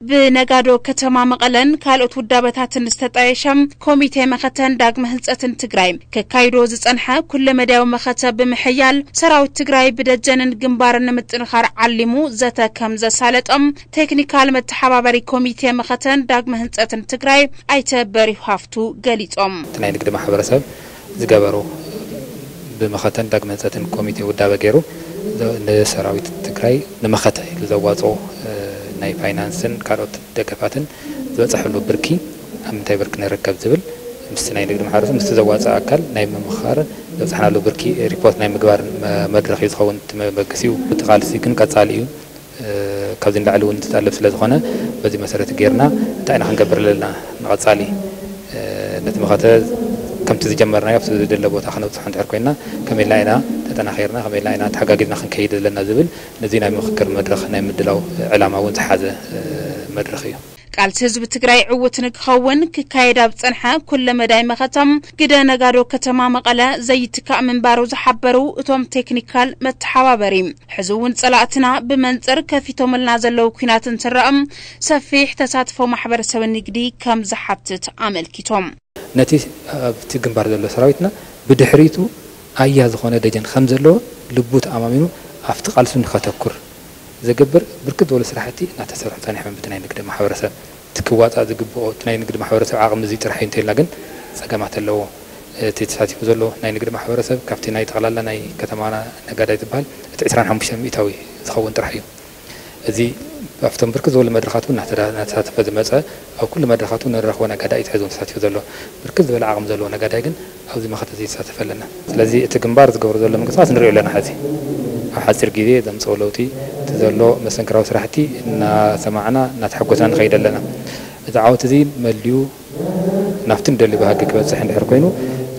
ብነጋዶ ከተማ መቐለን ካልኦት ውዳበታትን ዝተጣየሸ ኮሚቴ መኸተን ዳግመ ህንፀትን ትግራይ ከካይዶ ዝፀንሐ ኩለመዳያዊ መኸተ ብምሕያል ሰራዊት ትግራይ ብደጀንን ግንባርን ንምጥንኻር ዓሊሙ ዘተ ከም ዘሳለጦም ቴክኒካል መተሓባበሪ ኮሚቴ መኸተን ዳግመ ህንፀትን ትግራይ ኣይተ በሪሁ ሃፍቱ ገሊፆም። እቲ ናይ ንግዲ ማሕበረሰብ ዝገበሮ ብመኸተን ዳግመ ህንፀትን ኮሚቴ ውዳበ ገይሩ ንሰራዊት ትግራይ ንመኸተ ኢሉ ዘዋፅኦ ናይ ፋይናንስን ካልኦት ደገፋትን ዝበፀሐሉ ብርኪ ኣብ ምንታይ ብርኪ ንርከብ ዝብል ምስቲ ናይ ንግዲ ማሕበረሰብ ምስቲ ዘዋፅእ ኣካል ናይ ምምኽኻርን ዘብፅሕናሉ ብርኪ ሪፖርት ናይ ምግባር መድረኽ እዩ ዝኸውን። እቲ መበገሲኡ እቲ ቃልሲ ግን ቀፃሊ እዩ። ካብዚ ንላዕሊ እውን ዝጠልብ ስለ ዝኾነ በዚ መሰረት ጌርና እንታይ ኢና ክንገብር ዘለና ንቐፃሊ ነቲ መኸተ ከምቲ ዝጀመርናዮ ኣብቲ ዝደለ ቦታ ክነብፅሖ እንድሕር ኮይና ከመይ ኢልና ኢና ተጠናኺርና ከመይ ኢልና ኢና ተሓጋጊዝና ክንከይድ ዘለና ዝብል ነዚ ናይ ምኽክር መድረኽ ናይ ምድላው ዕላማ እውን ዝሓዘ መድረኽ እዩ። ቃልሲ ህዝቢ ትግራይ ዕዉት ንክኸውን ክካየድ ኣብ ዝፀንሐ ኩለ መዳይ መኸተ ግደ ነጋዶ ከተማ መቐለ ዘይትካእ ምንባሩ ዝሓበሩ እቶም ቴክኒካል መተሓባበሪ ሕዚ እውን ፀላእትና ብመንፅር ከፊቶምልና ዘለዉ ኲናት እንትረኣ ሰፊሕ ተሳትፎ ማሕበረሰብ ንግዲ ከም ዝሓትት ኣመልኪቶም። ነቲ ኣብቲ ግንባር ዘሎ ሰራዊትና ብድሕሪቱ ኣያ ዝኾነ ደጀን ከም ዘለዎ ልቡ ተኣማሚኑ ኣብቲ ቃልሱ ንኸተኩር ዝገብር ብርክት ዝበሉ ስራሕቲ እናተሰርሑ ፀኒሖም። ብቲ ናይ ንግዲ ማሕበረሰብ እቲ ክዋፃእ ዝግብኦ እቲ ናይ ንግዲ ማሕበረሰብ ዓቕሚ እዚ ጥራሕ እዩ እንተኢልና ግን ፀገማት ኣለዎ። እቲ ተሳቲፉ ዘሎ ናይ ንግዲ ማሕበረሰብ ካብቲ ናይ ጠቕላላ ናይ ከተማና ነጋዳይ ዝበሃል እቲ ዕስራን ሓሙሽተን ሚእታዊ ዝኸውን ጥራሕ እዩ። እዚ ኣብቶም ብርክት ዝበሉ መድረኻት እውን እናተሳተፈ ዝመፀ ኣብ ኩሉ መድረኻት እውን ንረኽቦ ነጋዳይ እዩ ሕዚ እውን ተሳቲፉ ዘሎ። ብርክት ዝበለ ዓቕሚ ዘለዎ ነጋዳይ ግን ኣብዚ መኸተ እዚ ይሳተፍ ኣለና። ስለዚ እቲ ግንባር ዝገብሮ ዘሎ ምንቅስቃስ ንሪኦ ኣለና። ሕዚ ኣብ ሓፂር ግዜ ዘምፀኦ ለውጢ እቲ ዘሎ መሰንክራዊ ስራሕቲ እናሰማዕና እናተሐጎስና ንኸይድ ኣለና። እዚ ዓወት እዚ መሊኡ ናብቲ ንደሊ ባህጊ ክበፅሕ እንድሕር ኮይኑ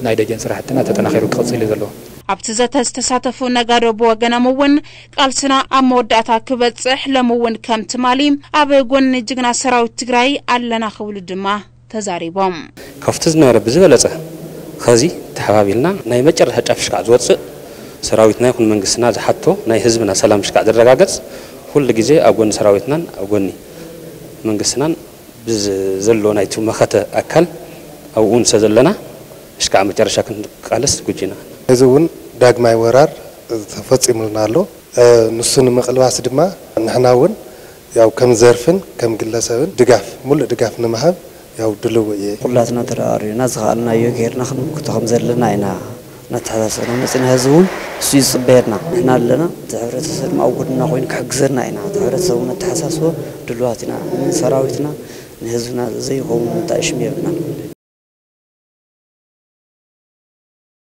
ናይ ደጀን ስራሕትና ተጠናኺሩ ክቕፅል እዩ ዘለዎ። ኣብቲ ዘተ ዝተሳተፉ ነጋዶ ብወገኖም እውን ቃልስና ኣብ መወዳእታ ክበፅሕ ሎሚ እውን ከም ትማሊ ኣብ ጎኒ ጅግና ሰራዊት ትግራይ ኣለና ክብሉ ድማ ተዛሪቦም። ካብቲ ዝነበረ ብዝበለፀ ኸዚ ተሓባቢልና ናይ መጨረሻ ጫፍ ሽካዕ ዝወፅእ ሰራዊትና ይኹን መንግስትና ዝሓቶ ናይ ህዝብና ሰላም ሽካዕ ዝረጋገፅ ኩሉ ግዜ ኣብ ጎኒ ሰራዊትናን ኣብ ጎኒ መንግስትናን ብዘሎ ናይቲ መኸተ ኣካል ኣብኡ ንሰ ዘለና ሽካዕ መጨረሻ ክንቃለስ ዝግጁ ኢና። እዚ እውን ዳግማይ ወራር ተፈፂሙልና ኣሎ። ንሱ ንምቕልባስ ድማ ንሕና እውን ያው ከም ዘርፍን ከም ግለሰብን ድጋፍ ሙሉእ ድጋፍ ንምሃብ ያው ድልው እየ። ኩላትና ተረኣሪና ዝኸኣልናዮ ጌርና ክንምክቶ ከም ዘለና ኢና እናተሓሳሰብና መፂና። ህዝቢ እውን እሱ እዩ ዝፅበየና። ንሕና ኣለና። እቲ ሕብረተሰብ ድማ ኣብ ጎድንና ኮይኑ ክሕግዘና ኢና። እቲ ሕብረተሰብ እውን ኣተሓሳስቦ ድልዋት ኢና። ንሰራዊትና ንህዝብና ዘይኸውን እንታይ ሽም የብልናን።